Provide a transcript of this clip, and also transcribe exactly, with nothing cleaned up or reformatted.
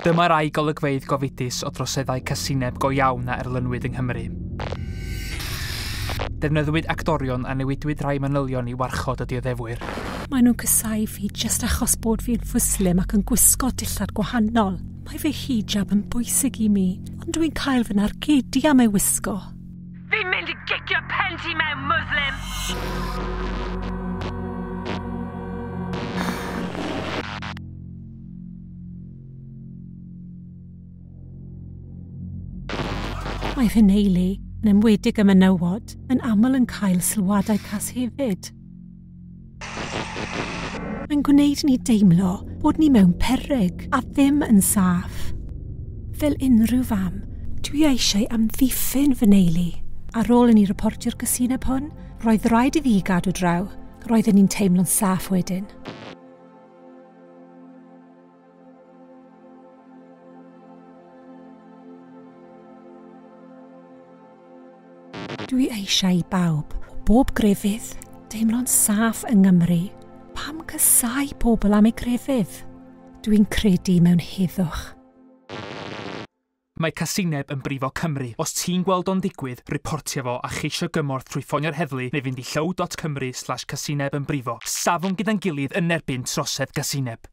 Dyma rai golygfeydd gofidus o droseddau casineb go iawn a erlynwyd yng Nghymru. Defnyddiwyd actorion a newidwyd rhai manylion i warchod y dioddefwyr. Maen nhw'n casáu fi jyst achos bod fi'n Fwslim ac yn gwisgo dillad gwahanol. Mae fy hijab yn bwysig i mi, ond dwi'n cael fy nargedu am ei wisgo. Fi'n mynd i gicio pen ti mewn, Muslim! Mae fy nheulu, yn enwedig y menywod, yn aml yn cael sylwadau cas hefyd. Mae'n gwneud ni deimlo bod ni mewn peryg a ddim yn saff. Fel unrhyw fam, dwi eisiau amddiffyn fy nheulu. Ar ôl i ni reportio'r casineb hwn, roedd rhaid iddi gadw draw. Roedden ni'n teimlo'n saff wedyn. Dwi eisiau i bawb, o bob grefydd, deimlo'n saff yng Nghymru. Pam casáu pobl am eu grefydd? Dwi'n credu mewn heddwch. Mae casineb yn brifo Cymru. Os ti'n gweld o'n digwydd, reportio fo a cheisio gymorth trwy ffonio'r heddlu neu fynd i llyw dot cymru slash casineb yn brifo. Safwn gyda'n gilydd yn erbyn trosedd gasineb.